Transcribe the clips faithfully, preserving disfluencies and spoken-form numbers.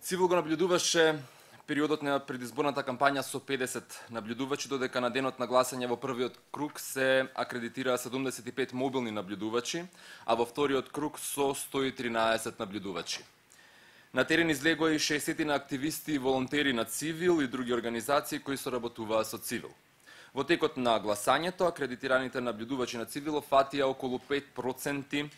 Цивил го наблюдуваше периодот на предизборната кампања со педесет наблюдувачи, додека на денот на гласање во првиот круг се акредитираа седумдесет и пет мобилни наблюдувачи, а во вториот круг со сто и тринаесет наблюдувачи. На терен излегоа и шеесет активисти и волонтери на Цивил и други организации кои соработуваа со Цивил. Во текот на гласањето, акредитираните наблюдувачи на Цивил фатија околу пет проценти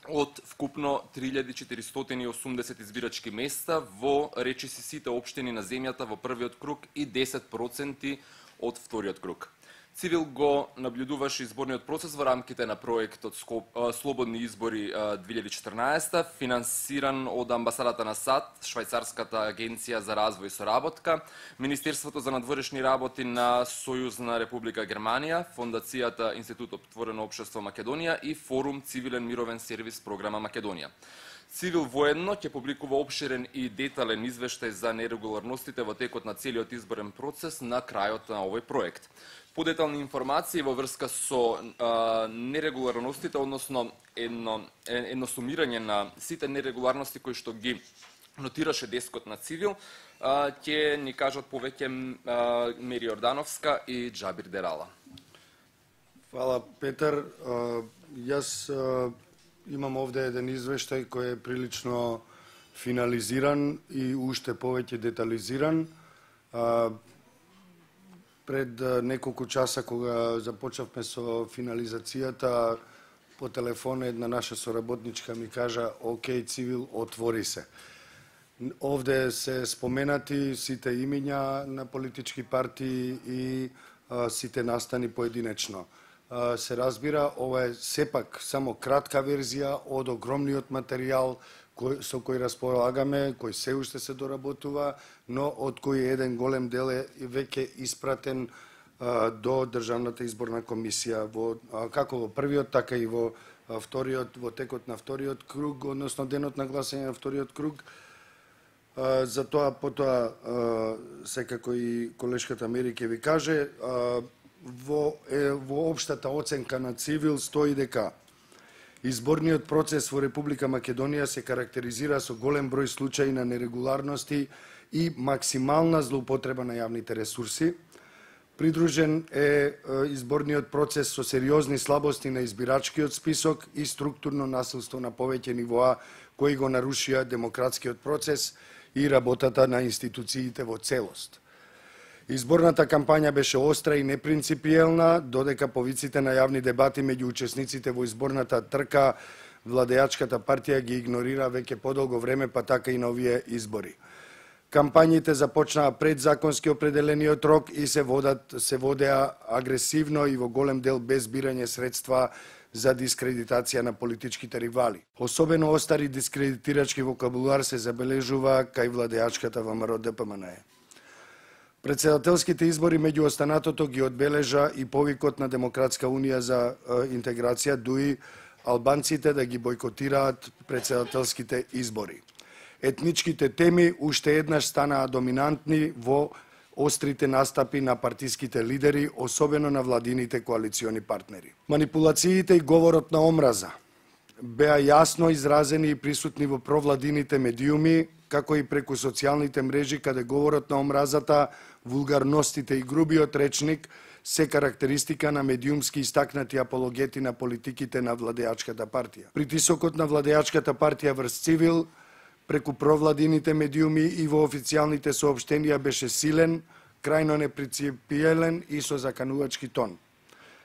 од вкупно три илјади четиристотини и осумдесет избирачки места во речиси сите општини на земјата во првиот круг и десет проценти од вториот круг. Цивил го наблюдуваше изборниот процес во рамките на проектот Слободни избори две илјади и четрнаесета, финансиран од амбасадата на САД, Швајцарската агенција за развој и соработка, Министерството за надворешни работи на Сојузна Република Германија, Фондацијата Институт Отворено општество Македонија и Форум Цивилен мировен сервис програма Македонија. Цивил воедно ќе публикува опширен и детален извештај за нерегуларностите во текот на целиот изборен процес на крајот на овој проект. Подетални информации во врска со а, нерегуларностите, односно едно, едно сумирање на сите нерегуларности кои што ги нотираше дескот на Цивил, а, ќе ни кажат повеќе а, Мери Ордановска и Џабир Дерала. Фала, Петар. А, јас а, имам овде еден извештај кој е прилично финализиран и уште повеќе детализиран. А, Пред неколку часа, кога започнавме со финализацијата, по телефон една наша соработничка ми кажа: "Океј, Цивил, отвори се." Овде се споменати сите имиња на политички партии и а, сите настани поединечно. А, се разбира, ова е сепак само кратка верзија од огромниот материјал кој, со кој располагаме, кој се уште се доработува, но од кој еден голем дел е веќе испратен а, до Државната изборна комисија, во, а, како во првиот, така и во а, вториот, во текот на вториот круг, односно денот на гласање на вториот круг. А, за тоа, потоа, а, секако и колешката Мери ќе ви каже, а, во, е, во општата оценка на Цивил стои дека изборниот процес во Република Македонија се карактеризира со голем број случаи на нерегуларности и максимална злоупотреба на јавните ресурси. Придружен е изборниот процес со сериозни слабости на избирачкиот список и структурно насилство на повеќе нивоа кои го нарушија демократскиот процес и работата на институциите во целост. Изборната кампања беше остра и непринципиелна, додека повиците на јавни дебати меѓу учесниците во изборната трка владеачката партија ги игнорира веќе подолго време, па така и на овие избори. Кампањите започнаа пред законски определениот рок и се водат се водеа агресивно и во голем дел без бирање средства за дискредитација на политичките ривали. Особено остар и дискредитирачки вокабулар се забележува кај владеачката ВМРО Д П М Н Е. Председателските избори меѓу останатото ги одбележа и повикот на Демократска унија за интеграција, дуи албанците да ги бойкотираат председателските избори. Етничките теми уште еднаш станаа доминантни во острите настапи на партиските лидери, особено на владините коалициони партнери. Манипулациите и говорот на омраза беа јасно изразени и присутни во провладините медиуми, како и преку социјалните мрежи, каде говорот на омразата, вулгарностите и грубиот речник се карактеристика на медиумски истакнати апологети на политиките на владеачката партија. Притисокот на владеачката партија врз Цивил преку провладините медиуми и во официјалните соопштенија беше силен, крајно непринципиелен и со заканувачки тон.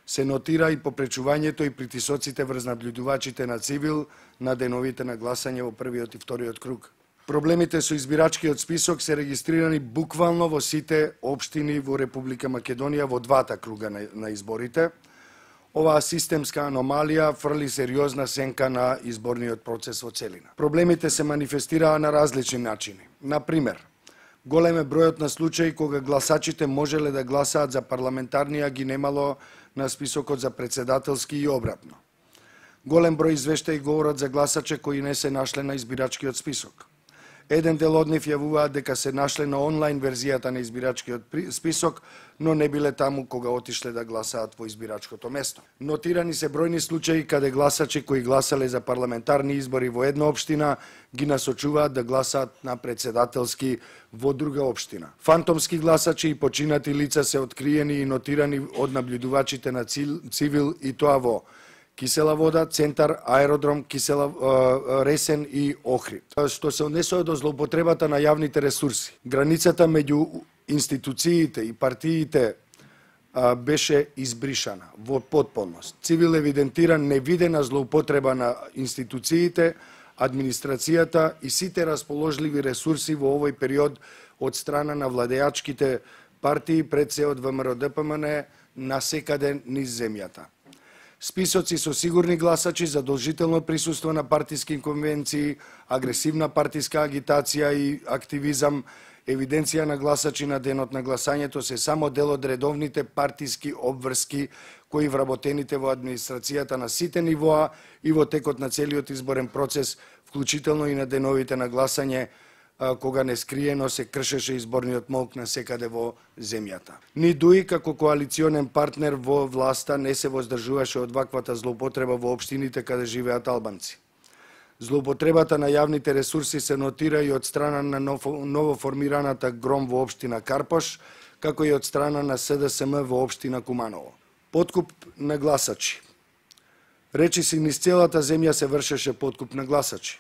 Се нотира и попречувањето и притисоците врз наблюдувачите на Цивил на деновите на гласање во првиот и вториот круг. Проблемите со избирачкиот список се регистрирани буквално во сите општини во Република Македонија во двата круга на, на изборите. Оваа системска аномалија фрли сериозна сенка на изборниот процес во целина. Проблемите се манифестираа на различни начини. Например, голем е бројот на случаи кога гласачите можеле да гласаат за парламентарни, а ги немало на списокот за председателски и обратно. Голем број извештаи говорат за гласачи кои не се нашле на избирачкиот список. Еден дел од нив јавуваат дека се нашле на онлайн верзијата на избирачкиот список, но не биле таму кога отишле да гласаат во избирачкото место. Нотирани се бројни случаи каде гласачи кои гласале за парламентарни избори во една општина ги насочуваат да гласаат на председателски во друга општина. Фантомски гласачи и починати лица се откриени и нотирани од наблюдувачите на Цивил и тоа во Кисела вода, Центар, Аеродром, Кисела Ресен и Охрид. Што се однесува до злоупотребата на јавните ресурси, границата меѓу институциите и партиите а, беше избришана во потполност. Цивил евидентира невидена злоупотреба на институциите, администрацијата и сите расположливи ресурси во овој период од страна на владеачките партии пред се од ВМРО Д П М Н насекаде низ земјата. Списоци со сигурни гласачи, задолжително присуство на партиски конвенции, агресивна партиска агитација и активизам, евиденција на гласачи на денот на гласањето се само дел од редовните партиски обврски кои вработените во администрацијата на сите нивоа и во текот на целиот изборен процес, вклучително и на деновите на гласање, кога нескриено се кршеше изборниот молк на секаде во земјата. Ни ДУИ како коалиционен партнер во власта не се воздржуваше од ваквата злоупотреба во општините каде живеат албанци. Злоупотребата на јавните ресурси се нотира и од страна на новоформираната ГРОМ во општина Карпош, како и од страна на С Д С М во општина Куманово. Подкуп на гласачи. Речиси низ целата земја се вршеше подкуп на гласачи.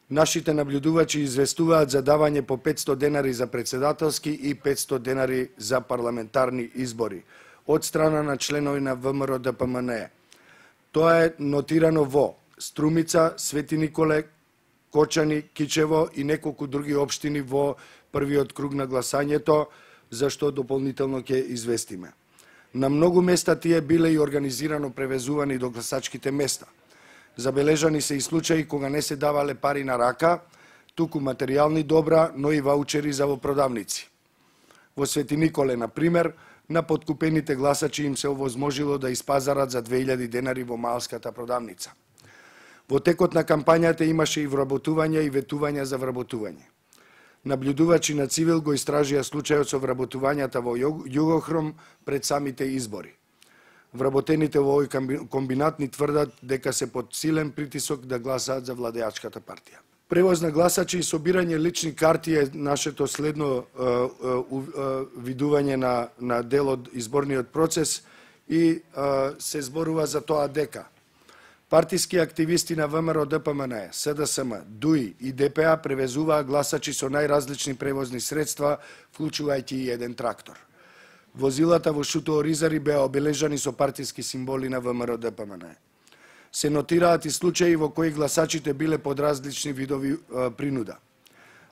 Нашите наблюдувачи известуваат за давање по петсто денари за председателски и петсто денари за парламентарни избори од страна на членови на В М Р Д П М Н. Тоа е нотирано во Струмица, Свети Николе, Кочани, Кичево и неколку други општини во првиот круг на гласањето, за што дополнително ќе известиме. На многу места тие биле и организирано превезувани до гласачките места. Забележани се и случаи кога не се давале пари на рака, туку материјални добра, но и ваучери за во продавници. Во Свети Николе, на пример, на подкупените гласачи им се овозможило да испазарат за две илјади денари во малската продавница. Во текот на кампањата имаше и вработувања и ветувања за вработување. Наблюдувачи на Цивил го истражија случајот со вработувањата во Југохром пред самите избори. Вработените во овој комбинат ни тврдат дека се под силен притисок да гласаат за владеачката партија. Превоз на гласачи и собирање лични карти е нашето следно е, е, е, видување на, на дел од изборниот процес и е, се зборува за тоа дека партиски активисти на В М Р Д П М Н, С Д С М, ДУИ и Д П А превезуваа гласачи со најразлични превозни средства, вклучувајќи и еден трактор. Возилата во Шутово Ризари беа обележани со партиски символи на В М Р Д П М Н. Се нотираат и случаи во кои гласачите биле под различни видови е, принуда.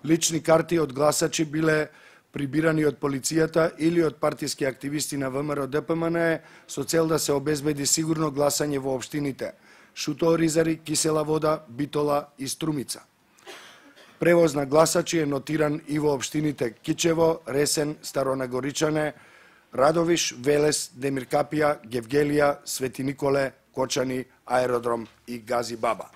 Лични карти од гласачи биле прибирани од полицијата или од партиски активисти на В М Р Д П М Н со цел да се обезбеди сигурно гласање во општините Шутово Ризари, Кисела вода, Битола и Струмица. Превоз на гласачи е нотиран и во општините Кичево, Ресен, Старонагоричане, Радовиш, Велес, Демиркапија, Гевгелија, Свети Николе, Кочани, Аеродром и Гази Баба.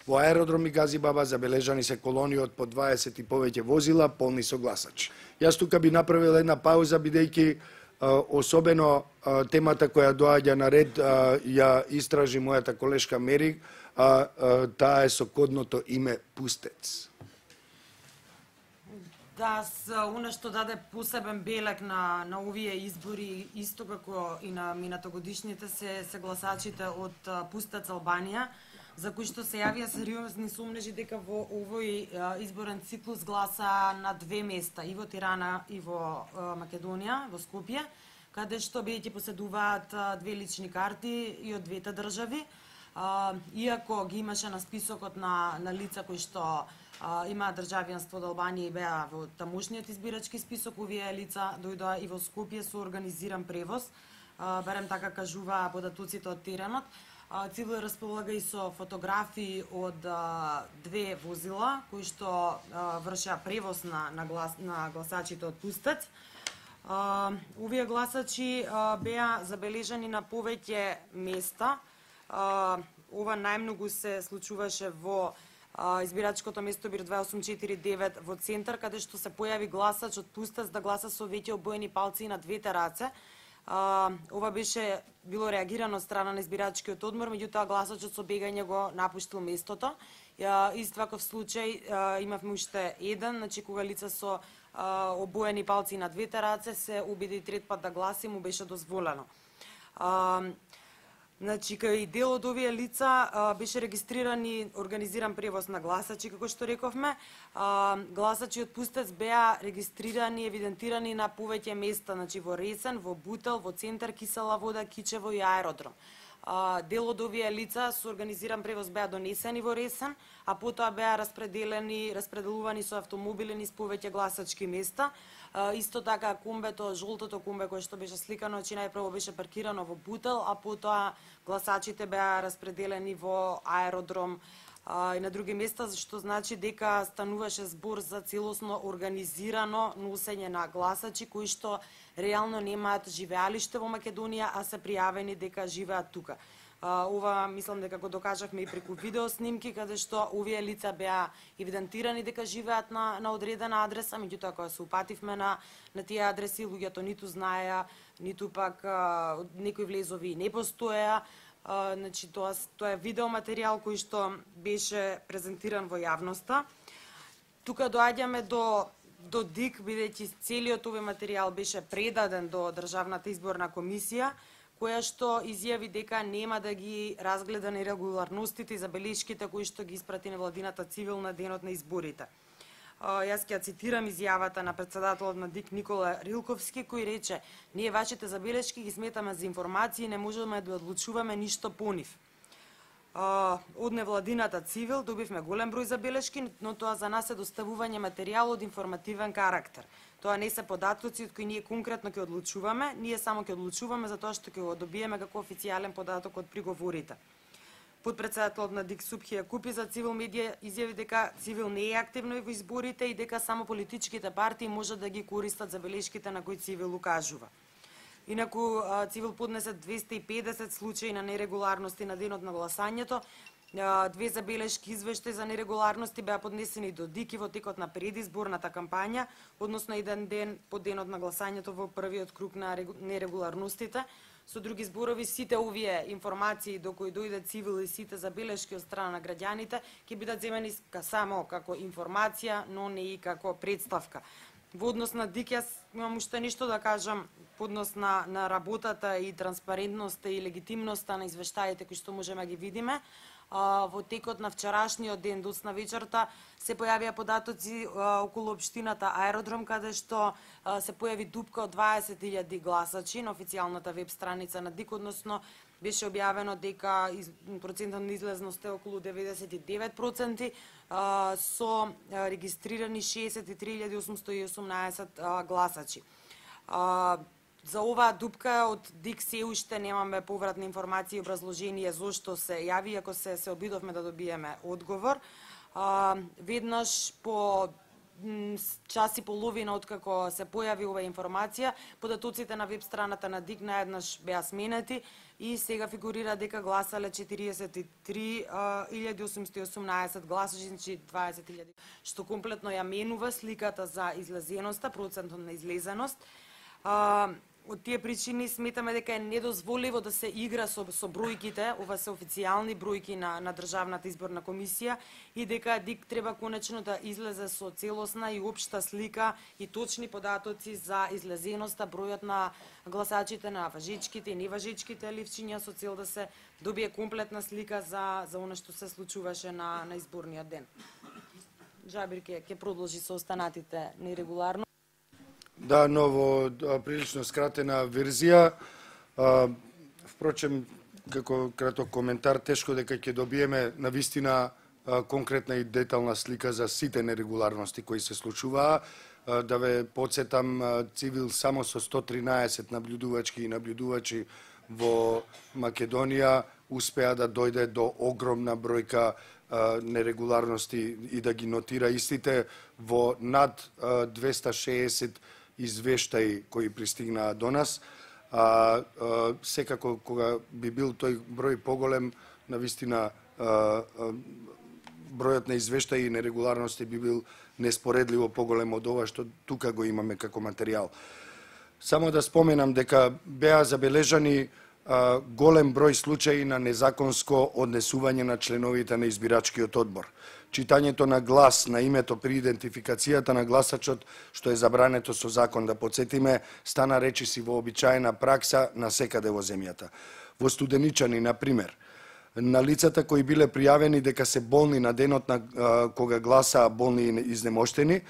Во Аеродром и Гази Баба забележани се колони од по дваесет и повеќе возила полни со гласачи. Јас тука би направил една пауза, бидејќи особено а, темата која доаѓа на ред а, ја истражи мојата колешка Мери, а, а таа е со кодното име Пустец. Да, она што даде посебен белег на, на овие избори, исто како и на минатогодишните, се, се гласачите од Пустец Албанија, за кои што се јавија сериозни сомнежи дека во овој изборен циклус гласа на две места, и во Тирана и во Македонија, во Скопје, каде што бидејќи поседуваат две лични карти и од двете држави, иако ги имаше на списокот на, на лица кои што имаат државјанство од Албанија и беа во тамошниот избирачки список, овие лица дојдоа и во Скопје со организиран превоз, барем така кажуваа податоците од теренот. Цивил располага и со фотографии од а, две возила кои што а, вршеа превоз на, на, глас, на гласачите од Пустец. А, овие гласачи а, беа забележани на повеќе места. А, ова најмногу се случуваше во избирачкото место бир две осум четири девет во центар, каде што се појави гласач од Пустец да гласа со веќе обоени палци на двете раце. А, ова беше било реагирано од страна на избирачкиот одмор, меѓутоа гласачот со бегање го напуштил местото. Ист ваков случај имавме уште еден, значи кога лица со а, обоени палци на двете раце се убеди трет пат да гласи, му беше дозволено. А, Значи, кај дел од овие лица а, беше регистриран и организиран превоз на гласачи, како што рековме. А, гласачи од Пустец беа регистрирани и евидентирани на повеќе места, значи во Ресен, во Бутел, во Центар, Кисела вода, Кичево и аеродром. А, дел од овие лица со организиран превоз беа донесени во Ресен, а потоа беа распределени, распределувани со автомобили низ повеќе гласачки места. Uh, исто така кумбето, жолтото кумбе кое што беше сликано, че најпрво беше паркирано во Бутел, а потоа гласачите беа распределени во аеродром uh, и на други места, што значи дека стануваше збор за целосно организирано носење на гласачи кои што реално немаат живеалиште во Македонија, а се пријавени дека живеат тука. Uh, ова мислам дека го докажавме и преку видео снимки, каде што овие лица беа евидентирани дека живеат на, на одредена адреса, меѓутоа кога се упативме на, на тие адреси, луѓето ниту знаеа, ниту пак uh, некои влезови не постоеа. Uh, значи, тоа, тоа е видеоматеријал кој што беше презентиран во јавноста. Тука доаѓаме до до ДИК, бидејќи целиот овој материјал беше предаден до Државната изборна комисија, која што изјави дека нема да ги разгледа нерегуларностите и забелешките кои што ги испрати невладината цивил на денот на изборите. Јас ќе цитирам изјавата на претседателот на ДИК Никола Рилковски, кој рече: "Ние вашите забелешки ги сметаме за информации и не можеме да одлучуваме ништо по нив." Од невладината цивил добивме голем број забелешки, но тоа за нас е доставување материјал од информативен карактер. Тоа не се податоци од кои ние конкретно ќе одлучуваме, ние само ќе одлучуваме за тоа што ќе го добиеме како официјален податок од приговорите. Подпредседателот на ДИК Супхија Купи за Цивил медија изјави дека Цивил не е активно во изборите и дека само политичките партии може да ги користат забелешките на кои Цивил укажува. Инаку Цивил поднесе двесте и педесет случаи на нерегуларности на денот на гласањето. Две забелешки извештаи за нерегуларности беа поднесени до ДИК и во текот на предизборната кампања, односно еден ден по денот на гласањето во првиот круг на нерегуларностите. Со други зборови, сите овие информации до кои дојде Цивил и сите забелешки од страна на граѓаните ќе бидат земени само како информација, но не и како представка. Во однос на ДИК, јас имам уште нешто да кажам по однос на, на работата и транспарентноста и легитимноста на извештаите кои што можеме ги видиме. Uh, во текот на вчерашниот ден доцна вечерта се појавија податоци uh, околу општината Аеродром, каде што uh, се појави дупка од дваесет илјади гласачи на официјалната веб страница на ДИК, односно беше објавено дека из, процентот на излезност е околу деветдесет и девет проценти, uh, со uh, регистрирани шеесет и три илјади осумстотини и осумнаесет uh, гласачи. Uh, За оваа дупка од ДИК се уште немаме повратни информации и образложение зошто се јави, ако се, се обидовме да добиеме одговор. А, веднаш по час и половина откако се појави оваа информација, податоците на веб страната на ДИК наеднаш беа сменети и сега фигурира дека гласале четириесет и три илјади осумстотини и осумнаесет гласачи, значи дваесет илјади, што комплетно ја менува сликата за излезеноста, процентот на излезеност. А, Од тие причини сметаме дека е недозволиво да се игра со, со бројките, ова се официјални бројки на, на Државната изборна комисија, и дека ДИК треба конечно да излезе со целосна и општа слика и точни податоци за излезеноста, бројот на гласачите, на важичките и неважичките ливчиња, со цел да се добие комплетна слика за, за она што се случуваше на, на изборниот ден. Жабир ќе, ќе продолжи со останатите нерегуларно. Да, но во прилично скратена верзија. А, впрочем, како краток коментар, тешко дека ќе добиеме навистина а, конкретна и детална слика за сите нерегуларности кои се случуваа. А, да ве подсетам, а, Цивил само со сто тринаесет наблюдувачки и наблюдувачи во Македонија успеа да дојде до огромна бројка а, нерегуларности и да ги нотира истите во над а, двесте шеесет извештаи кои пристигнаа до нас. А, а, секако кога би бил тој број поголем, навистина а, а, бројот на извештаи и нерегуларности би бил неспоредливо поголем од ова што тука го имаме како материјал. Само да споменам дека беа забележани а, голем број случаи на незаконско однесување на членовите на избирачкиот одбор. Читањето на глас на името при идентификацијата на гласачот, што е забрането со закон, да подсетиме, стана речиси вообичаена пракса на секаде во земјата. Во Студеничани, на пример, на лицата кои биле пријавени дека се болни на денот на а, кога гласаа болни и изнемоштени,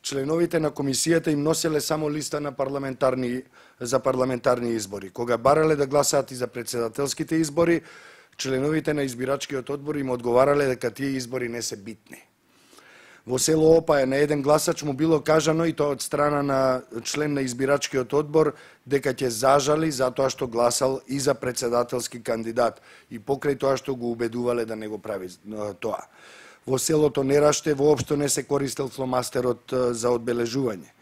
членовите на комисијата им носеле само листа на парламентарни за парламентарни избори. Кога барале да гласаат и за претседателските избори, членовите на избирачкиот одбор им одговарале дека тие избори не се битни. Во село Опаја на еден гласач му било кажано, и тоа од страна на член на избирачкиот одбор, дека ќе зажали затоа што гласал и за претседателски кандидат и покрај тоа што го убедувале да не го прави тоа. Во селото Нераште воопшто не се користел фломастерот за одбележување.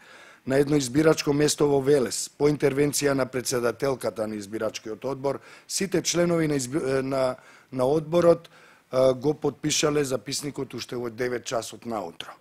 На едно избирачко место во Велес, по интервенција на претседателката на избирачкиот одбор, сите членови на, изби... на, на одборот а, го подпишале записникот уште во девет часот наутро.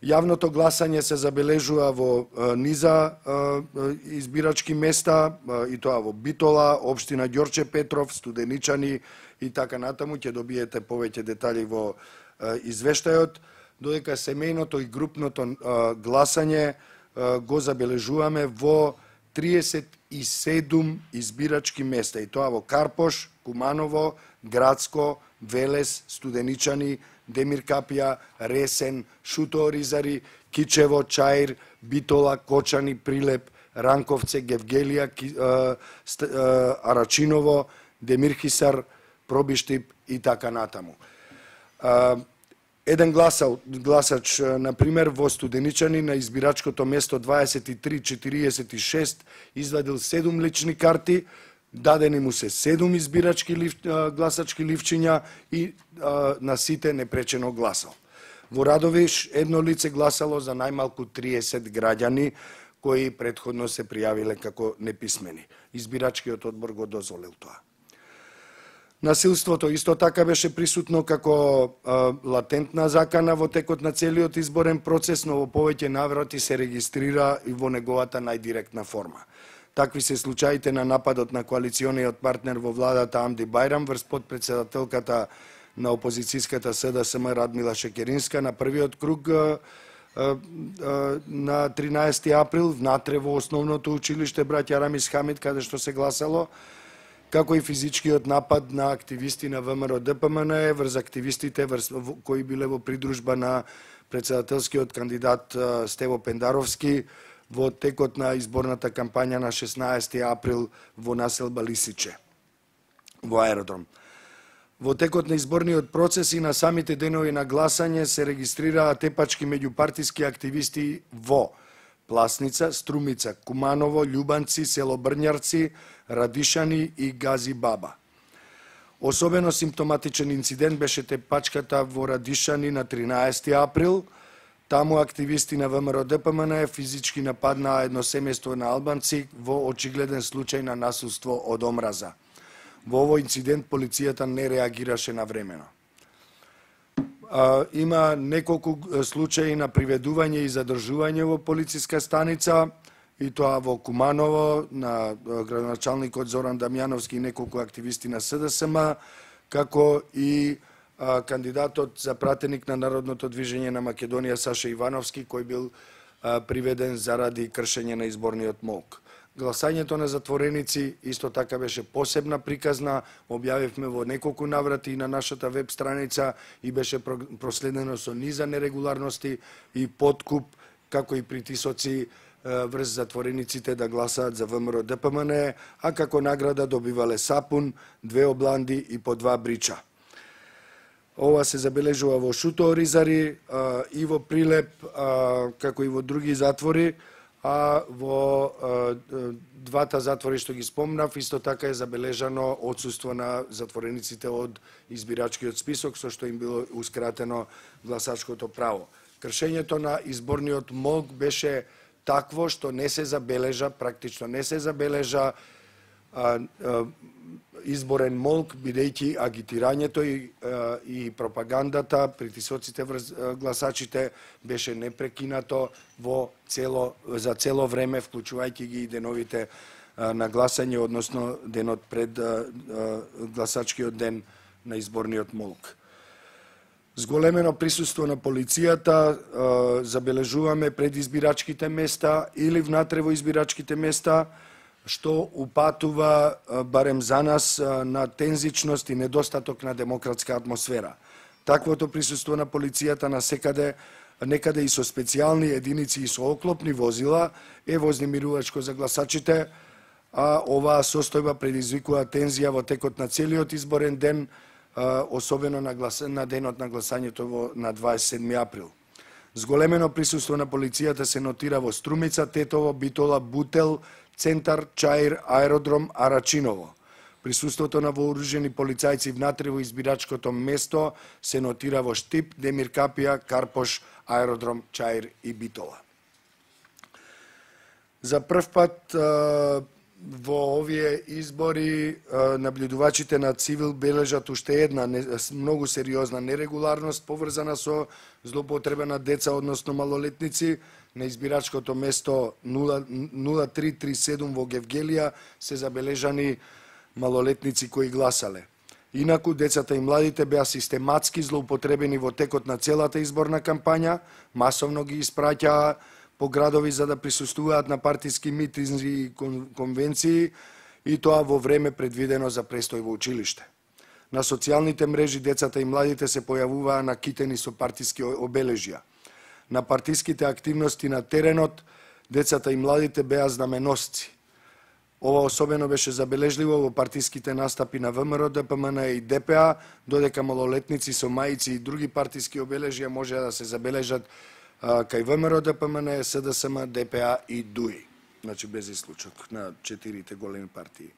Јавното гласање се забележува во а, низа а, избирачки места, а, и тоа во Битола, општина Ѓорче Петров, Студеничани и така натаму. Ќе добиете повеќе детали во а, извештајот, додека семејното и групното а, гласање го забележуваме во триесет и седум избирачки места, и тоа во Карпош, Куманово, Градско, Велес, Студеничани, Демир Капија, Ресен, Шуто Оризари, Кичево, Чаир, Битола, Кочани, Прилеп, Ранковце, Гевгелија, Арачиново, Демир Хисар, Пробиштип и така натаму. Еден гласал, гласач, на пример, во Студеничани на избирачкото место дваесет и три четириесет и шест извадил седум лични карти, дадени му се седум избирачки лив, гласачки ливчиња и а, на сите непречено гласал. Во Радовиш едно лице гласало за најмалку триесет граѓани кои претходно се пријавиле како неписмени. Избирачкиот одбор го дозволил тоа. Насилството исто така беше присутно како а, латентна закана во текот на целиот изборен процес, но во повеќе наврати се регистрира и во неговата најдиректна форма. Такви се случаите на нападот на коалициониот партнер во владата Амди Бајрам врз подпредседателката на опозицијската СДСМ Радмила Шекеринска на првиот круг а, а, а, на тринаесети април внатре во основното училиште браќа Рамис Хамид, каде што се гласало, како и физичкиот напад на активисти на ВМРО Д П М Н Е врз активистите врз, кои биле во придружба на претседателскиот кандидат Стево Пендаровски во текот на изборната кампања на шеснаесети април во населба Лисиче, во аеродром. Во текот на изборниот процес и на самите денови на гласање се регистрираа тепачки меѓупартиски активисти во Пласница, Струмица, Куманово, Љубанци, село Брњарци, Радишани и Гази Баба. Особено симптоматичен инцидент беше тепачката во Радишани на тринаесети април. Таму активисти на ВМРО Д П М Н Е физички нападнаа едно семејство на албанци во очигледен случај на насилство од омраза. Во овој инцидент полицијата не реагираше навремено. Има неколку случаи на приведување и задржување во полициска станица, и тоа во Куманово, на градоначалникот Зоран Дамјановски и неколку активисти на С Д С М, како и а, кандидатот за пратеник на Народното движење на Македонија Саша Ивановски, кој бил а, приведен заради кршење на изборниот молк. Гласањето на затвореници исто така беше посебна приказна, објавивме во неколку наврати и на нашата веб страница и беше проследено со низа нерегуларности и подкуп, како и притисоци врз затворениците да гласаат за ВМРО Д П М Н Е, а како награда добивале сапун, две обланди и по два брича. Ова се забележува во Шуто Оризари и во Прилеп, како и во други затвори, а во двата затвори што ги спомнав, исто така е забележано отсуство на затворениците од избирачкиот список, со што им било ускратено гласачкото право. Кршењето на изборниот молк беше такво што не се забележа, практично не се забележа а, а, изборен молк, бидејќи агитирањето и, а, и пропагандата, притисоците врз гласачите беше непрекинато во цело, за цело време, вклучувајќи ги и деновите а, на гласање, односно денот пред а, а, гласачкиот ден на изборниот молк. Зголемено присуство на полицијата а, забележуваме пред избирачките места или внатре во избирачките места, што упатува, барем за нас, на тензичност и недостаток на демократска атмосфера. Таквото присуство на полицијата на секаде, некаде и со специјални единици и со оклопни возила е вознемирувачко за гласачите, а оваа состојба предизвикува тензија во текот на целиот изборен ден, особено на, глас... на денот на гласањето во... на дваесет и седми април. Зголемено присуство на полицијата се нотира во Струмица, Тетово, Битола, Бутел, Центар, Чаир, Аеродром, Арачиново. Присуството на вооружени полицајци внатре во избирачкото место се нотира во Штип, Демир Капија, Карпош, Аеродром, Чаир и Битола. За прв пат во овие избори наблюдувачите на Цивил бележат уште една многу сериозна нерегуларност поврзана со злоупотреба на деца, односно малолетници. На избирачкото место нула три три седум во Гевгелија се забележани малолетници кои гласале. Инаку, децата и младите беа систематски злоупотребени во текот на целата изборна кампања, масовно ги испраќаа по градови за да присуствуваат на партиски митинзи и конвенции, и тоа во време предвидено за престој во училиште. На социјалните мрежи децата и младите се појавуваа накитени со партиски обележја. На партиските активности на теренот, децата и младите беа знаменосци. Ова особено беше забележливо во партиските настапи на ВМРО, ДПМН и ДПА, додека малолетници со маици и други партиски обележја можеа да се забележат а, кај ВМРО, ДПМН, СДСМ, ДПА и ДУИ. Значи без исклучок на четирите големи партии.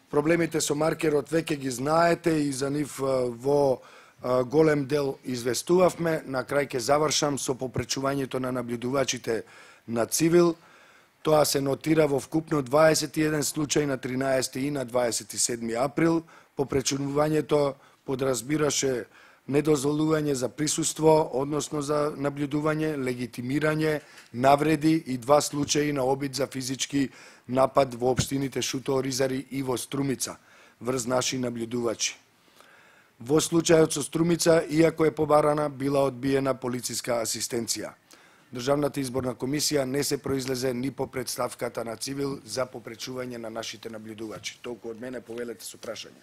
Проблемите со маркерот веќе ги знаете и за нив а, во голем дел известувавме. На крај ќе завршам со попречувањето на наблюдувачите на Цивил. Тоа се нотира во вкупно дваесет и еден случај на тринаесети и на дваесет и седми април. Попречувањето подразбираше недозволување за присуство, односно за наблюдување, легитимирање, навреди и два случаи на обид за физички напад во општините Шуто, Оризари и во Струмица врз наши наблюдувачи. Во случајот со Струмица, иако е побарана, била одбиена полициска асистенција. Државната изборна комисија не се произлезе ни по представката на Цивил за попречување на нашите наблюдувачи. Толку од мене, повелете со прашања.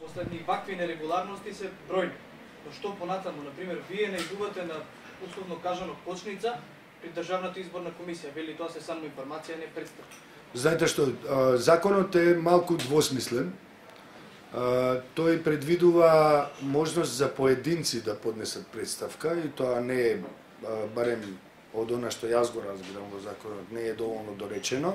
Последни вакви нерегуларности се бројни. Но што понатаму, например, вие најдувате на, условно кажано, кочница при Државната изборна комисија, вели тоа се само информација, не представка. Знаете што, законот е малку двосмислен. Uh, тој предвидува можност за поединци да поднесат представка и тоа не е, uh, барем од она што јас го разбирам во законот, не е доволно доречено.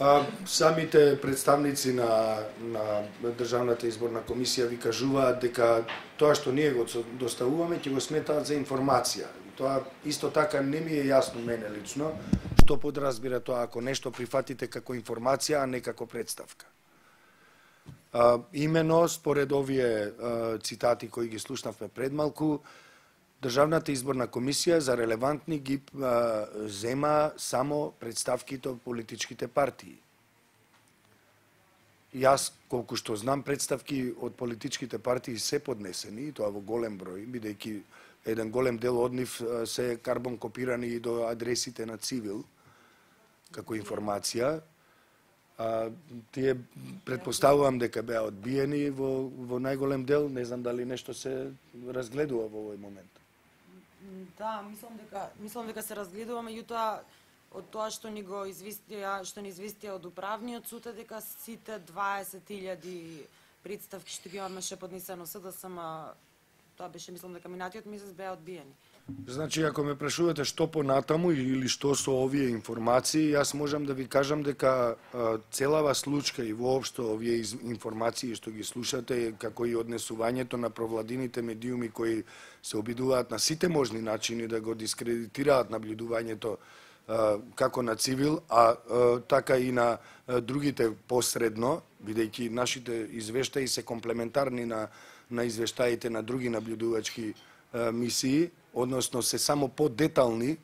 Uh, самите представници на, на Државната изборна комисија ви кажуваат дека тоа што ние го доставуваме ќе го сметаат за информација. Тоа исто така не ми е јасно мене лично, што подразбира тоа ако нешто прифатите како информација, а не како представка. Uh, имено, според овие uh, цитати кои ги слушнавме пред малку, Државната изборна комисија за релевантни ги uh, зема само представките од политичките партии. Јас, колку што знам, представки од политичките партии се поднесени, тоа во голем број, бидејќи еден голем дел од нив uh, се карбон копирани и до адресите на Цивил, како информација. А, тие предпоставувам дека беа одбиени во, во најголем дел, не знам дали нешто се разгледува во овој момент. Да, мислам дека мислам дека се разгледува, меѓутоа од тоа што ни го известија, што ни известија од управниот суд е дека сите дваесет илјади представки што ги имаше поднесено СДСМ, тоа беше мислам дека минатиот месец беа одбиени. Значи, ако ме прашувате што понатаму или што со овие информации, јас можам да ви кажам дека а, целава случка и воопшто овие информации што ги слушате, како и однесувањето на провладините медиуми кои се обидуваат на сите можни начини да го дискредитираат наблюдувањето како на цивил, а така и на другите посредно, бидејќи нашите извештаи се комплементарни на на извештаите на други наблюдувачки мисии, односно се само подетални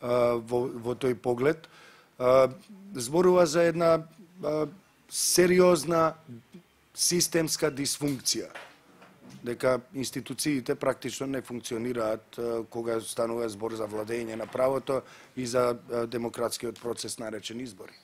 во, во тој поглед, зборува за една сериозна системска дисфункција, дека институциите практично не функционираат кога станува збор за владење на правото и за демократскиот процес наречен избори.